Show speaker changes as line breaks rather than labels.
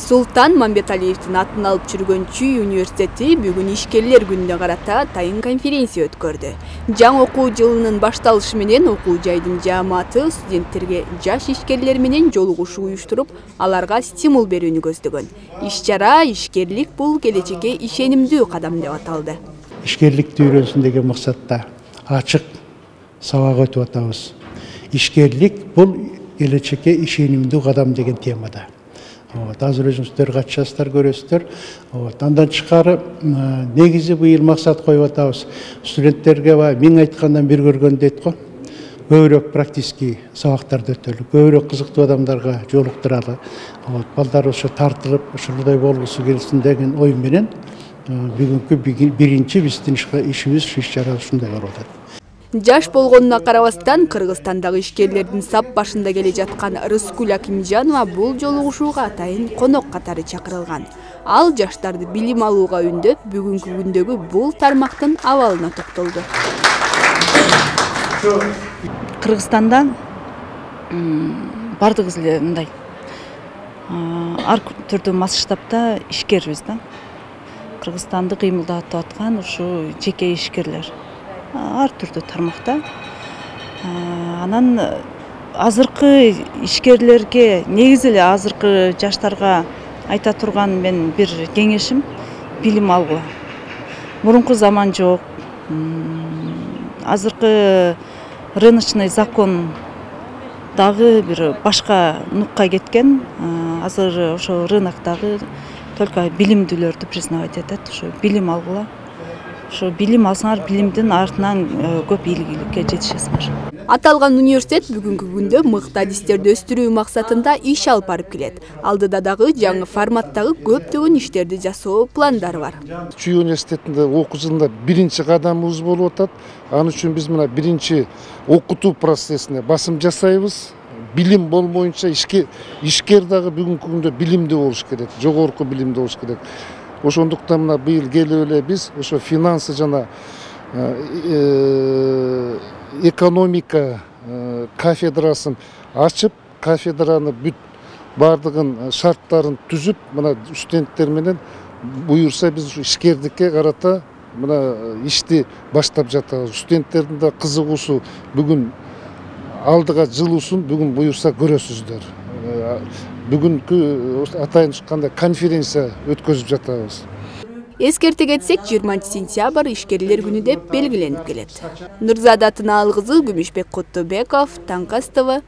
Султан Мамбеталиевдин атын алып жүргөн Чүй университети бүгүн ишкерлер күнүнө карата тайын конференция өткөрдү. Жаңы окуу жылынын башталышы менен окуу жайдын жааматы студенттерге жаш ишкерлер менен жолугушуу уюштуруп, аларга стимул берүүнү көздөгөн. Иш-чара ишкерлик бул келечекке ишенимдүү кадам деп аталды.
Ишкерликти үйрөнсүн деген максатта ачык сабак өтүп атабыз. Ишкерлик бул келечекке ишенимдүү кадам деген темада. Азыр өзүңүздөр катышасыздар, көрөсүздөр. Андан тышкары негизи быйыл максат коюп атабыз. Студенттерге мен айткандан бир көргөн дейт го. Көбүрөөк практический сабактарды өтөлү, көбүрөөк кызыктуу адамдарга жолуктуралы. Балдар ошо тартылып, ошондой болгусу келсин деген ой менен бүгүнкү биринчи биздин ишибиз, иш-чара ушундай болуп атат.
Жаш болгонуна карабастан Кыргызстандагы ишкерлердин сап башында келе жаткан Рыскүл Акимжанова бул жолугушууга атайын конок катары чакырылган. Ал жаштарды билим алууга үндөп, бүгүнкү күндөгү бул тармактын абалына токтолду.
Кыргызстанда бардыгыбыз эле мындай ар түрдүү масштабта ишкербиз да. Кыргызстанды кыймылдатып аткан ушу жеке ишкерлер. Ар түрдүү тармакта. Анан азыркы ишкерлерге, негизи эле азыркы жаштарга айта турган мен бир кеңешим билим алгыла. Мурунку заман жок. Азыркы рыночный закон дагы бир башка нукка кеткен. Азыр ошо рыноктогы только билимдүүлөрдү признавать этет. Ошо билим алгыла. Ошо билим алсаңар, билимдин артынан көп ийгиликке жетишесиңер.
Аталган университет бүгүнкү күндө мыкты адистерди өстүрүү максатында иш алып барып келет. Алдыда дагы жаңы форматтагы көптөгөн иштерди жасоо пландары бар.
Чүй университетинде окуу жылында биринчи кадамыбыз болуп атат. Ал үчүн биз мына биринчи окутуу процессине басым жасайбыз. Билим болмоюнча ишкер дагы бүгүнкү күндө билимдүү болуш керек, жогорку билимдүү болуш керек. Ошондуктан мына быйыл келип эле биз ошо финансы жана экономика кафедрасын ачып, кафедраны бүт бардыгын шарттарын түзүп, мына студенттер менен буюрса биз ишкердикке карата мына ишти баштап жатабыз. Студенттердин да кызыгуусу бүгүн алдыга жылуусун бүгүн буюрса көрөсүздөр. Бүгүнкү атайын кандай конференция өткөзүп жатабыз.
Эскерте кетсек, 20 сентябрь ишкерлер күнү деп белгиленип келет. Нурзада Тынаал кызы, Күмүшбек Куттубеков, Таңкас ТV.